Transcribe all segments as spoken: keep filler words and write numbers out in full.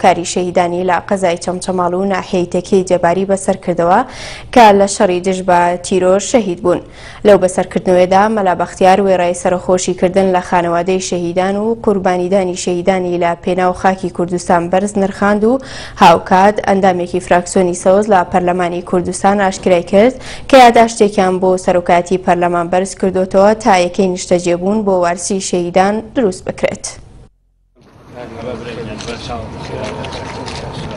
کاری شەهیدانی لە قەزای چەمچەماڵ و ناحیەی تەکیەی جەباری بەسەرکردەوە کە لە شەڕی دژ بە تیرۆر شەهید بوون. لەو بەسەرکردنەوەیدا مەلا بەختیار وێڕای سەرخۆشیکردن لە خانەوادەی شەهیدان و قوربانیدانی شەهیدانی لە پێناو خاکی کوردستان بەرز نرخاند و هاوکات ئەندامێکی فراکسیۆنی سەوز لە پەرلەمانی کوردستان ئاشکرای کرد کە یاداشتێکیان بۆ سەرۆکایەتی پەرلەمان بەرز کردوتەوە تا یەکەی نیشتەجێبوون بۆ وارسی شەهیدان دروست بکرێت.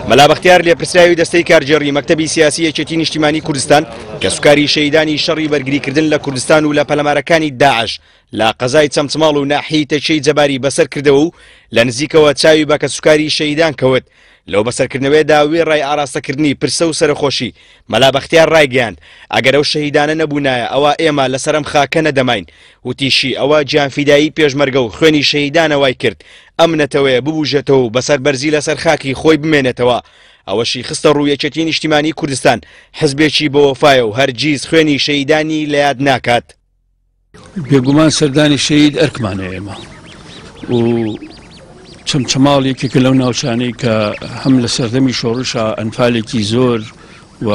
مەلا بەختیار لێپرسراوی دەستەی کارگێڕی مەکتەبی سیاسی یەکێتی نیشتیمانی کوردستان کەسوکاری شەهیدانی شەڕی بەرگریکردن لە کوردستان و لە پەلامارەکانی داعش لە قەزای چەمچەماڵ و ناحیەی تەکیەی جەباری بەسەر کردەوە و لە نزیکەوە چاوی بە کەسوکاری شەهیدان کەوت. لەو بەسەرکردنەوەیدا وێڕای ئاراستەکردنی پرسە و سەرخۆشی مەلا بەختیار ڕایگەیاند ئەگەر ئەو شەهیدانە نەبوونایە ئەوە ئێمە لەسەر ئەم خاکە نەدەماین. وتیشی ئەوە گیانفیدایی پێشمەرگە و خوێنی شەهیدانە وای کرد ئەم نەتەوەیە ببوژێتەوە و بەسەر بەرزی لەسەر خاکی خۆی بمێنێتەوە. ئەوەشی خستە ڕوو یەکێتی نیشتیمانی کوردستان حزبێکی بەوەفایە و هەرگیز خوێنی شەهیدانی لە یاد ناکات. بێگومان سەردانی شەهید ئەرکمانە ئێمە و چەمچەماڵ یەکێکە لەو ناوچانەی کە هەم لە سەردەمی شۆڕشە ئەنفالێکی زۆر و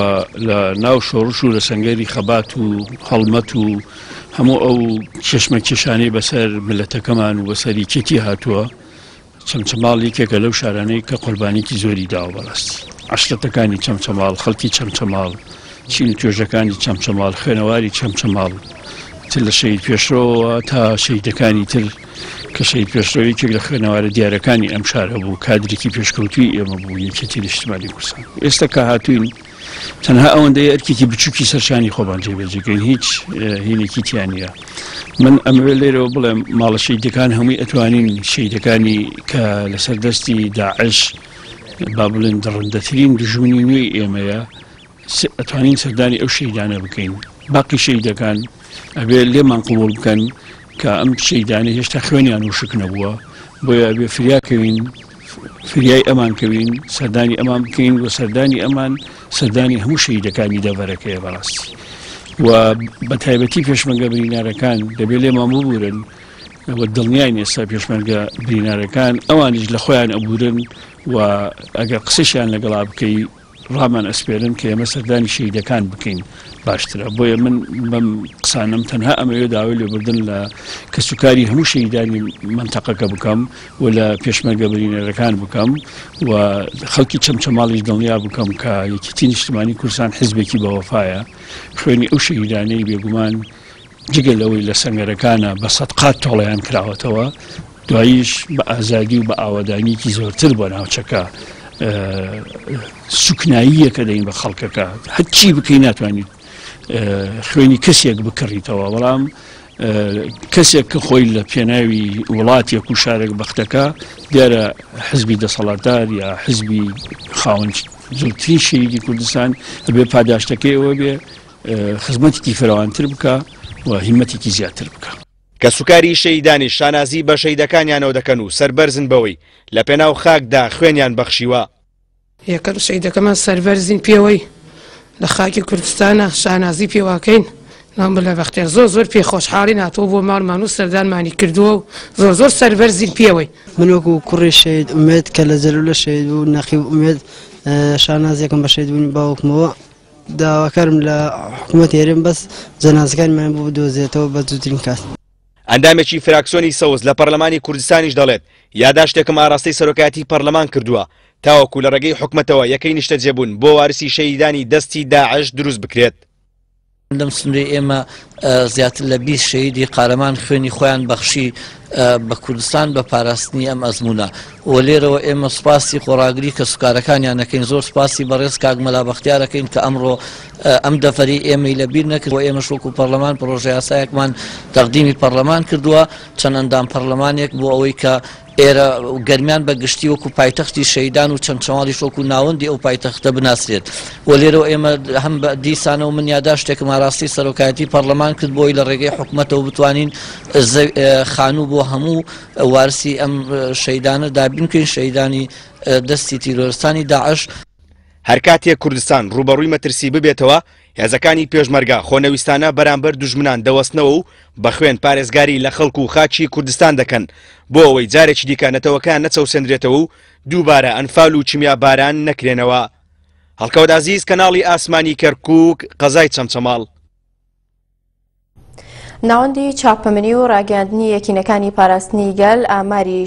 لە ناو شۆڕش و لە سەنگەری خەبات و هەڵمەت و هەموو ئەو چێشمە کێشانەی بەسەر ملەتەکەمان و بەسەر یەکێتی هاتووە. چەمچەماڵ یەکێکە لەو شارانەی کە قوربانیکی زۆری داوە بەڕاستی. عەشرەتەکانی چەمچەماڵ، خەڵکی چەمچەماڵ، چین و توێژەکانی چەمچەماڵ، خوێنەواری چەمچەماڵ، تر لە شەهید پێشڕەوە تا شەهیدەکانی تر کە شەهید پێشڕەوە یەکێک لە خوێنەوارە دیارەکانی ئەم شارە بوو، کادرێکی پێشکەوتووی ئێمە بوو یەکێتی نیشتیمانی کوردستان. ئێستا کە هاتوین تەنها ئەوەندەی ئەرکێکی بچووکی سەرشانی خۆمان جێبەجێکەین، هیچ هینێکی تیا نییە. من ئەمەوێت لێرەوە بڵێم ماڵە شەهیدەکان هەمووی ئەتوانین شەهیدەکانی کە لەسەر دەستی داعش با بڵێن دڕندەترین دوژمنی نوێی ئێمەیە ئەتوانین سەردانی ئەو شەهیدانە بکەین. باقی شەهیدەکان ئەبێ لێمان قبوڵ بکەن کە ئەم شەهیدانە هێشتا خوێنیان وشک نەبووە، بۆیە ئەبێ فریاکەوین، فریای ئەمان کەوین، سەردانی ئەمان بکەین و سەردانی ئەمان سەردانی هەموو شەهیدەکانی دەڤەرەکەیە بەڕاستی. و بە تایبەتی پێشمەرگە برینارەکان دەبێت لێمان ببورن و دڵنیاین ئێستا پێشمەرگە برینارەکان ئەوانیش لە خۆیان ئەبورن و ئەگەر قسەشیان لەگەڵا بکەی ڕامان ئەسپێرن کە ئێمە سەردانی شەهیدەکان بکەین باشترە. بۆیە من بەم قسانم تەنها ئەمەوێ داوای لێبوردن لە کەسوکاری هەموو شەهیدانی مەنتەقەکە بکەم و لە پێشمەرگە برینەرەکان بکەم و خەڵکی چەمچەماڵیش دڵنیا بکەم کە یەکێتی نیشتیمانی کوردستان حزبێکی بەوەفایە. خوێنی ئەو شەهیدانەی بێگومان جگە لەوەی لە سەنگەرەکانە بە سەد قات تۆڵەیان کراوەتەوە، دواییش بە ئازادی و بە ئاوەدانیکی زۆرتر بۆ ناوچەکە سوکناییەکە دەین بە خەڵکەکە. هەرچی بکەی ناتوانیت خوێنی کەسێک بکڕیتەوە، بەڵام کەسێک کە خۆی لە پێناوی وڵاتێک و شارێک بەختەکە دیارە حزبی دەسەڵاتدار یا حزبی خاوەن زۆرترین شەهیدی کوردستان ئەبێ پاداشتەکەی ئەوە بێ خزمەتێکی فراوانتر بکە و هیمەتێکی زیاتر بکە. کەسوکاری شەهیدانی شانازی بە شەهیدەکانیانەوە دەکەن و سەربەرزن بەوەی لە پێناو خاکدا خوێنیان بەخشیوە. یەکەم شەهیدەکەمان سەربەرزین پێوەی لە خاکی کوردستانە شانازی پێواکەین. نام بلە بەختیار زۆر زۆر پێ خۆشحاڵین هاتووە بۆ ماڵمان و سەردانمانی کردووە و زۆر زۆر سەربەرزین پێوەی. من وەکو کوڕی شەهید ئومێد کە لە جەلولە شەهید بوو، نەقیب ئومێد، شانازیەکەم بە شەهیدبوونی باوکمەوە. داواکارم لە حکوومەتی هەرێم بەس جەنازەکانمان بۆ بدۆزێتەوە بە زووترین کات. ئەندامێکی فراکسیۆنی سەوز لە پەرلەمانی کوردستانیش دەڵێت یاداشتێکم ئاراستەی سەرۆکایەتی پەرلەمان کردووە تاوەکو لە ڕێگەی حکومەتەوە یەکەی نیشتەجێبوون بۆ وارسی شەهیدانی دەستی داعش دروست بکرێت. لەم سنوورەی ئێمە زیاتر لە بیست شەهیدی قارەمان خوێنی خۆیان بەخشی بە کوردستان بە پاراستنی ئەم ئەزمونە و لێرەوە ئێمە سوپاسی خۆڕاگری کە سوکارەکانیان نەکەین، زۆر سوپاسی بەڕێز کاک مەلا بەختیارەکەین کە ئەمڕۆ ئەم دەفەری ئێمەی لەبیر نەکرد و ئێمەش وەکو پەرلەمان پرۆژە یاسایەکمان تەقدیمی پەرلەمان کردووە، چەند ئەندام پەرلەمانێک بۆ ئەوەی کە ئێرە گەرمیان بە گشتی وەکو پایتەختی شەهیدان و چەمچەماڵیش وەکو ناوەندی ئەو پایتەختە بناسرێت. و لێرەوە ئێمە هەم بە دیسانەوە من یاداشتێکم ئاراستەی سەرۆکایەتی پەرلەمان کرد بۆی لە ڕێگەی حکومەتەوە بتوانین خانوو بۆ هەموو وارسی ئەم شەهیدانە دابین بکەین، شەهیدانی دەستی تیرۆرستانی داعش. هەر کاتێک کوردستان ڕووبەڕووی مەترسی ببێتەوە، هێزەکانی پێشمەرگە خۆنەویستانە بەرامبەر دوژمنان دەوەستنەوە و بە خوێن پارێزگاری لە خەڵک و خاکی کوردستان دەکەن بۆ ئەوەی جارێکی دیکە نەتەوەکان نەچەوسێندرێتەوە و دووبارە ئەنفال و کیمیاباران نەکرێنەوە. هەڵکەوت عەزیز، کەناڵی ئاسمانی کەرکووک، قەزای چەمچەماڵ. ناوەندی چاپەمەنی و ڕاگەیاندنی یەکینەکانی پاراستنی گەل ئاماری